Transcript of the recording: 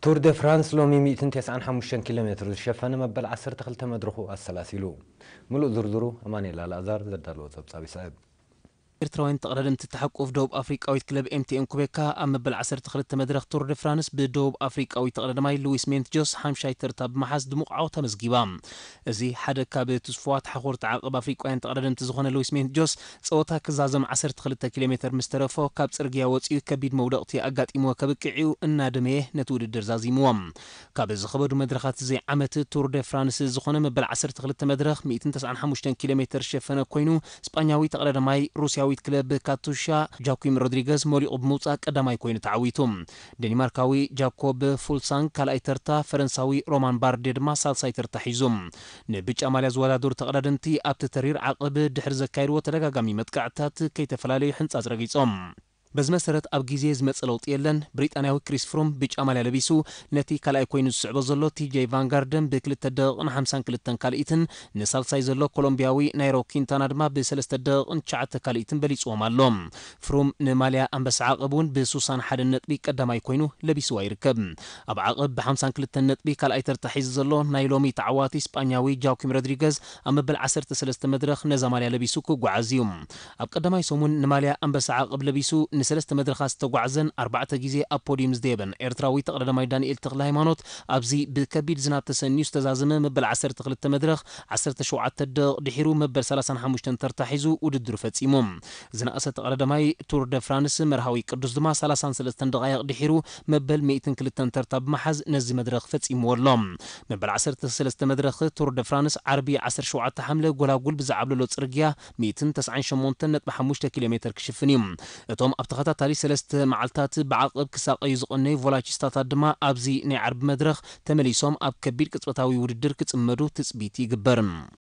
ቱር ደ ፍራንስ ሎሚ ሚእትን ተስዓን ሓሙሽተን ኪሎ ሜትር ዝሸፈነ መበል ዓሰርተ ክልተ መድረኹ ኣሰላሲሉ። ምሉእ ዝርዝሩ ኣማኑኤል ኣልኣዛር ዘዳለዎ ጸብጻብ ይስዕብ። ኤርትራውያን ተቐዳደምቲ እትሓቁፍ ደቡብ ኣፍሪቃዊት ክለብ ኤምቲኤን ኩቤካ ኣብ መበል ዓሰርተ ክልተ መድረኽ ቱር ደ ፍራንስ ብደቡብ ኣፍሪቃዊ ተቐዳዳማይ ሉዊስ ሜንት ጆስ ሓምሻይ ተርታ ብምሓዝ ድሙቕ ዓወት ኣመዝጊባ። እዚ ሓደ ካብ ትስፉዋት ሓኾርቲ ዓቐብ ኣፍሪቃውያን ተቐዳደምቲ ዝኾነ ሉዊስ ሜንት ጆስ ጸወታ ክዛዘም ዓሰርተ ክልተ ኪሎ ሜትር ምስ ተረፎ ካብ ጽርግያ ወጺኡ ከቢድ መውደቕቲ ኣጋጢምዎ ከብቅዕ እዩ እናደመየ ነቲ ውድድር ዛዚምዎ። ካብ ዝኸበዱ መድረኻት እዚ ዓመት ቱር ደ ፍራንስ ዝኾነ መበል ዓሰርተ ክልተ መድረኽ ሚእትን ተስዓን ሓሙሽተን ኪሎ ሜትር ዝሸፈነ ኮይኑ፣ ስጳኛዊ ተቐዳዳማይ ሩስያዊት ክለብ ካቱሻ ጃኩም ሮድሪገዝ መሊቑ ብምውጻእ ቀዳማይ ኮይኑ ተዓዊቱ። ደኒማርካዊ ጃኮብ ፉልሳንግ ካልኣይ ተርታ፣ ፈረንሳዊ ሮማን ባርዴ ድማ ሳልሳይ ተርታ ሒዙ። ንብጫ ማልያ ዝወዳደሩ ተቐዳደምቲ ኣብቲ ተሪር ዓቐብ ድሕሪ ዘካየድዎ ተደጋጋሚ መጥቃዕትታት ከይተፈላለዩ ሕንጻጽ ረጊጾም። በዚ መሰረት ኣብ ግዜ ዝመጸ ለውጢ የለን። ብሪጣንያዊ ክሪስ ፍሩም ብጫ ማልያ ለቢሱ ነቲ ካልኣይ ኮይኑ ዝስዕቦ ዘሎ ቲጄ ቫንጋርደን ብክልተ ደቂቕን ሓምሳን ክልተን ካልኢትን ንሳልሳይ ዘሎ ኮሎምቢያዊ ናይሮ ኪንታና ድማ ብሰለስተ ደቂቕን ትሽዓተ ካልኢትን በሊጽዎም ኣሎ። ፍሩም ንማልያ ኣንበሳ ዓቐብ እውን ብሱሳን ሓደን ነጥቢ ቀዳማይ ኮይኑ ለቢስዋ ይርከብ። ኣብ ዓቐብ ብሓምሳን ክልተን ነጥቢ ካልኣይ ተርታ ሒዙ ዘሎ ናይ ሎሚ ተዓዋቲ ስጳኛዊ ጃኩም ሮድሪገዝ ኣብ መበል ዓሰርተ ሰለስተ መድረኽ ነዛ ማልያ ለቢሱ ክጓዓዝ እዩ። ኣብ ቀዳማይ ሰሙን ንማልያ ኣንበሳ ዓቐብ ለቢሱ ንሰለስተ መድረኻት ዝተጓዕዘን ኣርባዕተ ግዜ ኣብ ፖዲዩም ዝደየበን ኤርትራዊ ተቐዳዳማይ ዳንኤል ተኽለ ሃይማኖት ኣብዚ ብከቢድ ዝናብ ተሰንዩ ዝተዛዘመ መበል ዓሰርተ ክልተ መድረኽ ዓሰርተ ሸውዓተ ደቂቕ ድሒሩ መበል ሰላሳን ሓሙሽተን ተርታ ሒዙ ውድድሩ ፈጺሙ። ዝነኣሰ ተቐዳዳማይ ቱር ደ ፍራንስ መርሃዊ ቅዱስ ድማ ሰላሳን ሰለስተን ደቓይቕ ድሒሩ መበል ሚእትን ክልተን ተርታ ብምሓዝ ነዚ መድረኽ ፈጺምዎ ኣሎ። መበል ዓሰርተ ሰለስተ መድረኽ ቱር ደ ፍራንስ ዓርቢ ዓሰርተ ሸውዓተ ሓምለ ጎላጉል ብዝዓብለሎ ጽርግያ ሚእትን ተስዓን ሸሞንተን ነጥቢ ሓሙሽተ ኪሎ ሜትር ክሽፍን እዩ። እቶም ኣብ ተኸታታሊ ሰለስተ መዓልታት ብዓቐብ ክሳቐዩ ዝቐነዩ ቮላቺስታታት ድማ ኣብዚ ናይ ዓርቢ መድረኽ ተመሊሶም ኣብ ከቢድ ቅጽበታዊ ውድድር ክጽመዱ ትጽቢት ይግበር።